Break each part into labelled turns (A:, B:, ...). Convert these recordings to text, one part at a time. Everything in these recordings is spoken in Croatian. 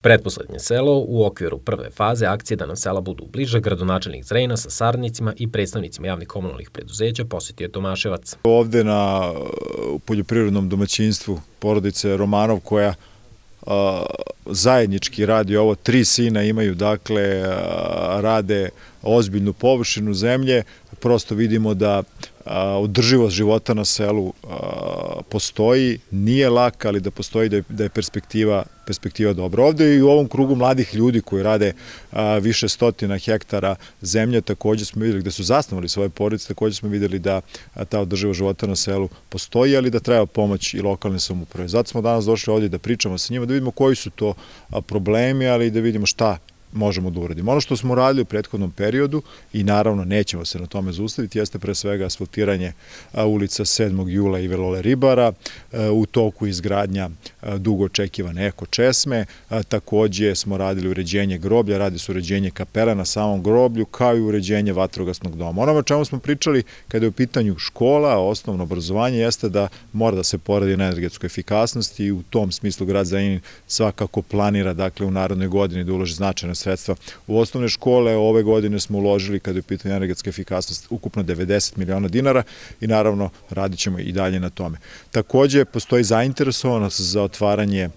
A: Pretposlednje selo u okviru prve faze akcije da nam sela budu bliže, gradonačelnik Zrenjanina sa saradnicima i predstavnicima javnih komunalnih preduzeća posjetio je Tomaševac.
B: Ovde na poljoprivrednom domaćinstvu porodice Romanov koja zajednički radi ovo, 3 sina imaju, dakle rade ozbiljnu površinu zemlje, prosto vidimo da održivost života na selu postoji, nije lak, ali da postoji, da je perspektiva dobra. Ovde i u ovom krugu mladih ljudi koji rade više stotina hektara zemlje, takođe smo videli, gde su zasnovali svoje porodice, takođe smo videli da ta održivost života na selu postoji, ali da treba pomoć i lokalne samouprave. Zato smo danas došli ovdje da pričamo sa njima, da vidimo koji su to problemi, ali i da vidimo šta možemo da uradimo. Ono što smo radili u prethodnom periodu i naravno nećemo se na tome zaustaviti, jeste pre svega asfaltiranje ulica 7. jula i Velole Ribara, u toku izgradnja dugo očekivane eko česme, takođe smo radili uređenje groblja, radi se uređenje kapela na samom groblju, kao i uređenje vatrogasnog doma. Ono o čemu smo pričali kada je u pitanju škola, osnovno obrazovanje, jeste da mora da se poradi na energetskoj efikasnosti i u tom smislu grad Zrenjanin svakako planira, dakle, u narednoj godini da uloži značajna sredstva u osnovne škole. Ove godine smo uložili, kada je u pitanju energetska efikasnost, ukupno 90 miliona dinara i naravno radit ćemo i dalje na tome. Takođe, postoji zainteresovanost za otvaranje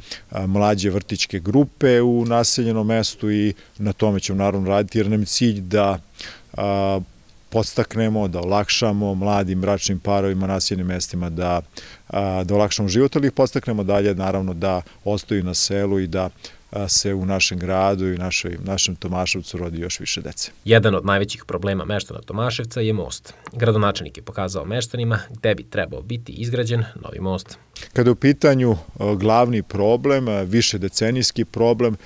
B: mlađe vrtićke grupe u naseljenom mestu i na tome ćemo naravno raditi, jer nam je cilj da podstaknemo, da olakšamo mladim bračnim parovima, naseljenim mestima, da olakšamo život, ali ih podstaknemo dalje, naravno, da ostaju na selu i da se u našem gradu i našem Tomaševcu rodi još više dece.
A: Jedan od najvećih problema meštana Tomaševca je most. Gradonačelnik je pokazao meštanima gde bi trebao biti izgrađen novi most.
B: Kada je u pitanju glavni problem, višedecenijski problem,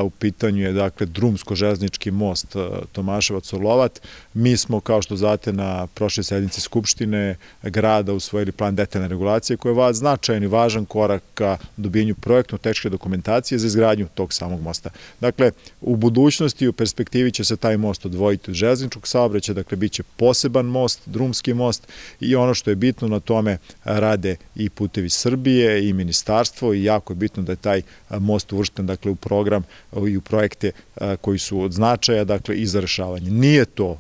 B: u pitanju je, dakle, drumsko-železnički most Tomaševac-Orlovat. Mi smo, kao što znate, na prošloj sednici Skupštine grada usvojili plan detaljne regulacije koji je značajan i važan korak ka dobijanju projektno-tehničke dokumentacije za izgradnju tog samog mosta. Dakle, u budućnosti, u perspektivi će se taj most odvojiti od železničkog saobraćaja, dakle, bit će poseban most, drumski most, i ono što je bitno, na tome rade i Putevi Srbije i ministarstvo, i jako je bitno da je taj most uvršten, dakle, u program i u projekte koji su od značaja, dakle, i za rešavanje. Nije to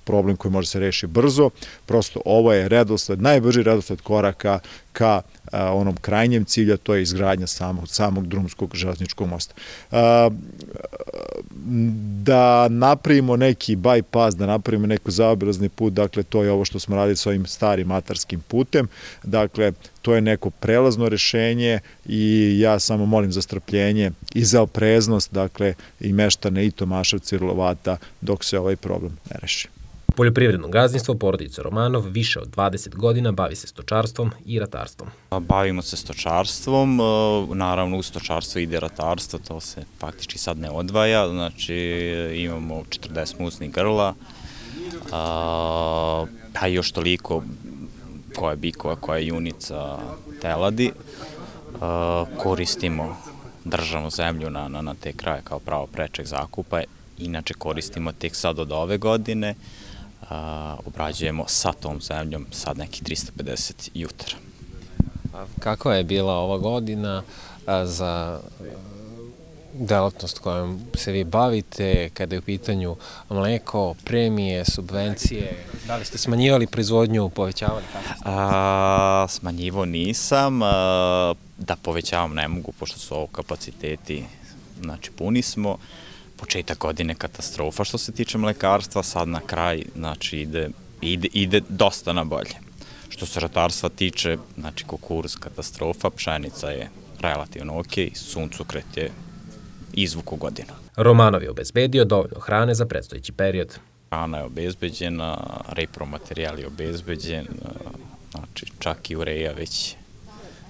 B: problem koji može se rešiti brzo, prosto ovo je redosled, najbrži redosled koraka ka onom krajnjem cilja, to je izgradnja samog drumskog železničkog mosta. Da napravimo neki bypass, da napravimo neki zaobilazni put, dakle, to je ovo što smo radili sa ovim starim atarskim putem, dakle, to je neko prelazno rešenje i ja samo molim za strpljenje i za opreznost, dakle, i meštane i Tomaševca i Orlovata dok se ovaj problem ne reši.
A: Poljoprivredno gazdinstvo porodice Romanov više od 20 godina bavi se stočarstvom i ratarstvom.
C: Bavimo se stočarstvom, naravno u stočarstvo ide ratarstvo, to se faktički sad ne odvaja, znači imamo 40 muznih grla, pa još toliko koja je bikova, koja je junica, teladi. Koristimo državnu zemlju na te kraje kao pravo prečeg zakupa, inače koristimo tek sad od ove godine, obrađujemo sa tom zemljom sad nekih 350 jutara.
D: Kakva je bila ova godina za delatnost kojom se vi bavite, kada je u pitanju mleko, premije, subvencije? Da li ste smanjivali proizvodnju, povećavali?
C: Smanjivo nisam, da povećavam ne mogu, pošto su ovo kapaciteti, znači puni smo. Početak godine katastrofa što se tiče mlekarstva, sad na kraj, znači ide dosta na bolje. Što se ratarstva tiče, znači kukuruz katastrofa, pšenica je relativno ok, suncokret je izvuk u godinu.
A: Romanov je obezbedio dovoljno hrane za predstojeći period.
C: Hrana je obezbeđena, repromaterijal je obezbeđen, znači čak i ureja već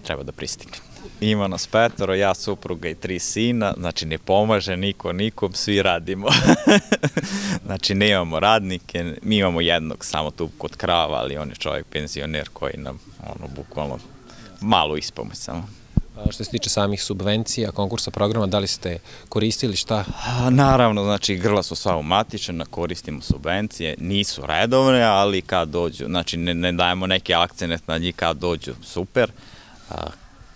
C: treba da pristigne. Ima nas 5, ja, supruga i 3 sina, znači ne pomaže niko nikom, svi radimo. Znači nemamo radnike, mi imamo jednog samo tu kod krava, ali on je čovjek penzioner koji nam, bukvalno malo ispomoć samo.
D: Što se tiče samih subvencija, konkursa, programa, da li ste koristili šta?
C: Naravno, znači grla su sva umatičena, koristimo subvencije, nisu redovne, ali kad dođu, znači ne dajemo neki akcenat na njih, kad dođu super.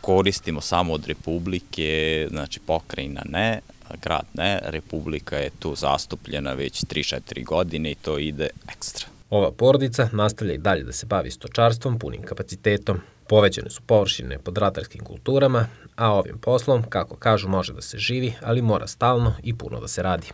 C: koristimo samo od Republike, znači pokrajina ne, grad ne, Republika je tu zastupljena već 3-4 godine i to ide ekstra.
A: Ova porodica nastavlja i dalje da se bavi stočarstvom punim kapacitetom. Povećane su površine pod ratarskim kulturama, a ovim poslom, kako kažu, može da se živi, ali mora stalno i puno da se radi.